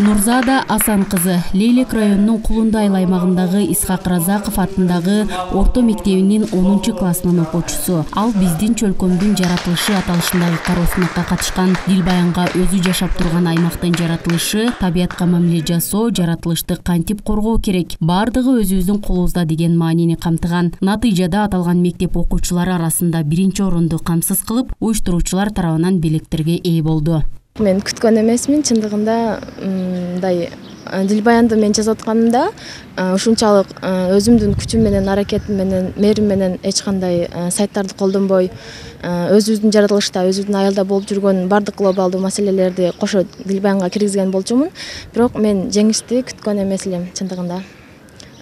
Нурзада Асан кызы Лейлек районунун Кулундай аймагындагы Исхак Разаков атындагы орто мектебинин 10 классынын окуучусу. Ал биздин чөлкөмдүн жаратылышы аталышындагы кароо сынакка катышкан. Дилбаянга өзү жашап турган аймактын жаратылышы, табиятка мамиле жасоо, жаратылышты кантип коргоо керек, бардыгы өзүбүздүн колубузда деген маанини камтыган. Натыйжада аталган мектеп окуучулары арасында биринчи орунду камсыз кылып, уюштуруучулар тарабынан белектерге ээ болду. Мен күткөн эмесмин, чындыгында мындай Дилбаянды мен жазып атканымда ушунчалык өзүмдүн күчүм менен, аракетим менен, мээрим менен эч кандай сайттарды колдонбой, өзүбүздүн жаратылышта, өзүбүздүн аялда болуп жүргөн бардык глобалдуу маселелерди кошо Дилбаянга киргизген болчумун. Бирок мен жеңишти күткөн эмес элем, чындыгында.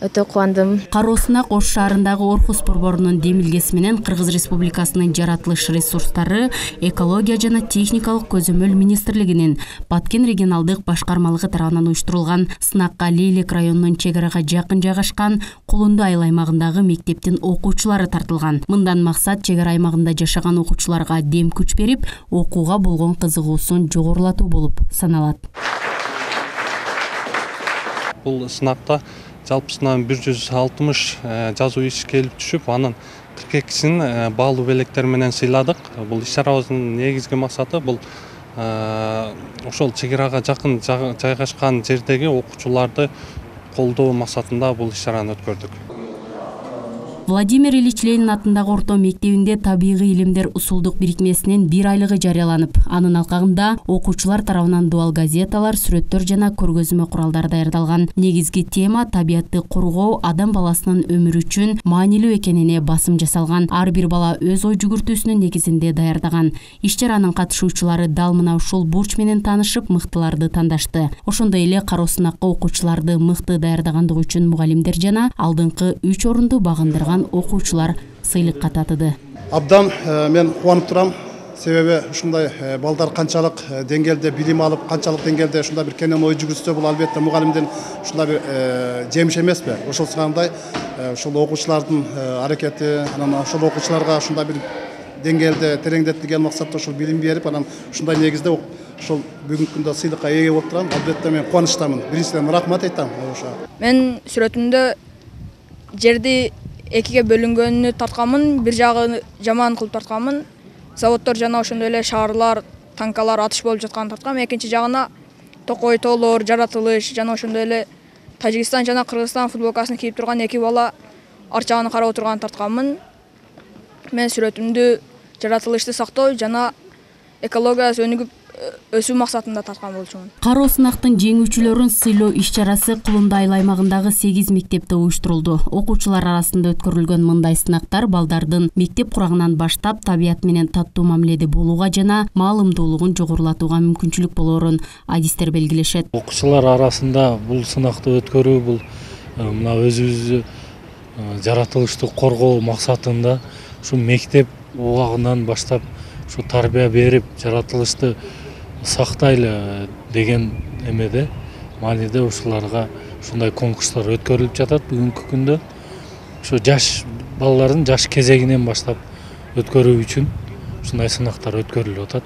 Өтө кубандым. Кароо сынак Ош шаарындагы Орхус борборунун демилгеси менен Кыргыз Республикасынын жаратылыш ресурстары, экология жана техникалык көзөмөл министрлигинин Баткен регионалдык башкармалыгы тарабынан уюштурулган сынакка Лейлек районунун чек арага жакын жайгашкан Кулундай аймагындагы мектептин окуучулары тартылган. Мындан максат чек ара аймагында жашаган окуучуларга дем күч берип, окууга болгон кызыгуусун жогорулатуу болуп саналат. Бул сынакта жалпысынан 160 жазуу иш келип түшүп, анын 42син баалуу белектер менен сыйладык. Бул иш-чарабыздын негизги максаты бул ошол чек арага жакын жайгашкан жердеги окуучуларды колдоо максатында бул иш-чараны өткөрдүк. Владимир Ильич Ленин атындагы орто мектебинде табигый илимдер усулдук бирикмесинин 1 айлыгы жарыяланып, анын алкагында окуучулар тарабынан дуал газеталар, сүрөттөр жана көргөзмө куралдары даярдалган. Негизги тема табиятты коргоо адам баласынын өмүрү үчүн маанилүү экенине басым жасалган. Ар бир бала өз ой жүгүртүүсүнүн негизинде даярдаган. Иш-чаранын катышуучулары дал мына ушул бурч менен таанышып, мыктыларды тандашты. Ошондой эле кароо сынакка окуучуларды мыкты даярдагандыгы үчүн мугалимдер жана алдыңкы 3 орунду багындырган окуучулар сыйлыкка татыды. Абдан мен кубанып турам. Себеби ушундай балдар канчалык деңгээлде билим алып, канчалык деңгээлде ушундай бир кенен ой жүгүртсө, бул албетте мугалимдин ушундай бир жемиш эмеспи? Ошол сыгандай ушул окуучулардын аракети, анан ошол окуучуларга ушундай бир деңгээлде тереңдетилген максатта ушул билим берип, анан ушундай негизде ошол бүгүнкү күндө сыйлыкка ээ болуп турам. Албетте мен кубанычтамын. Биринчиден рахмат айтам. Мен сүрөтүмдө жерди экиге бөлүнгөнүнү тартканмын, бир жагы жаман кылып тартканмын. Заводдор жана ошондой эле шаарлар, танкалар атыш болуп жатканын тарткам. Экинчи жагына токой тоолор, жаратылыш жана ошондой эле Тажикстан жана Кыргызстан футболкасын кийип турган эки бала арчаганы карап отурганын тартканмын. Мен сүрөтүмдү жаратылышты сактоо жана экологиясы өнүгүп өсүү максатында тарткан болчумун. Кароо сынактын жеңүүчүлөрүн сыйлоо иш-чарасы Кулундай аймагындагы 8 мектепте уюштурулду. Окуучулар арасында өткөрүлгөн мындай сынактар балдардын мектеп курагынан баштап табият менен таттуу мамиледе болууга жана маалымдуулугун жогорулатууга мүмкүнчүлүк болоорун адистер белгилешет. Окуучулар арасында бул сынакты өткөрүү бул мына өзүбүздү жаратылышты коргоо максатында ушу мектеп убагынан баштап ушу тарбия берип, жаратылышты сактайлы деген эмеде мааниде ушуларга ушундай конкурстар өткөрүлүп жатат бүгүнкү күндө. Ушу жаш балалардын жаш кезегинен баштап өткөрүү үчүн ушундай сынактар өткөрүлүп атат.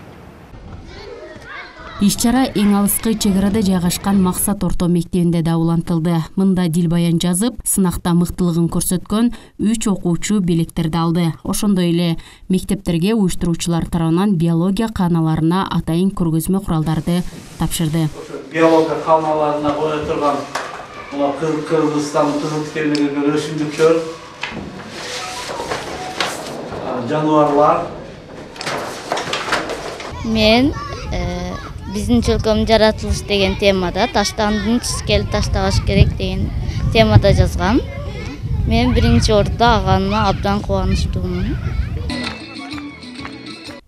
Иш-чара эң алыскы чек арада жайгашкан Максат орто мектебинде да улантылды. Мында Дилбаян жазып, сынакта мыктылыгын көрсөткөн 3 окуучу белектерди алды. Ошондой эле мектептерге уюштуруучулар тарабынан биология кааналарына атайын көргөзмө куралдарды тапшырды. Биология кааналарына кое турган Кыргызстан кызыл тикендеги өсүмдүктөр, жаныбарлар. Мен биздин чөлкөм жаратылыш деген темада таштандын чискели таштабаш керек деген темада жазгам. Мен биринчи орунда алганыма абдан кубанычтуумун.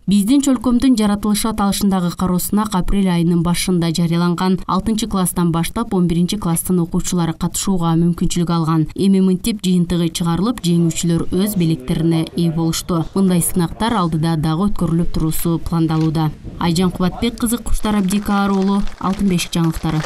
Биздин чөлкөмдүн жаратылышы аталышындагы кароо сынак апрель айынын башында жарыяланган. 6 класстан баштап 11 класстын окуучулары катышууга мүмкүнчүлүк алган. Эми мынтип жыйынтыгы чыгарылып, жеңүүчүлөр өз белектерине ээ болушту. Мындай сынактар алдыда дагы өткөрүлүп туруусу пландалууда. Айжан Кубатбек кызы, Куштар Абдикаар уулу, Алтын бешик жаңылыктары.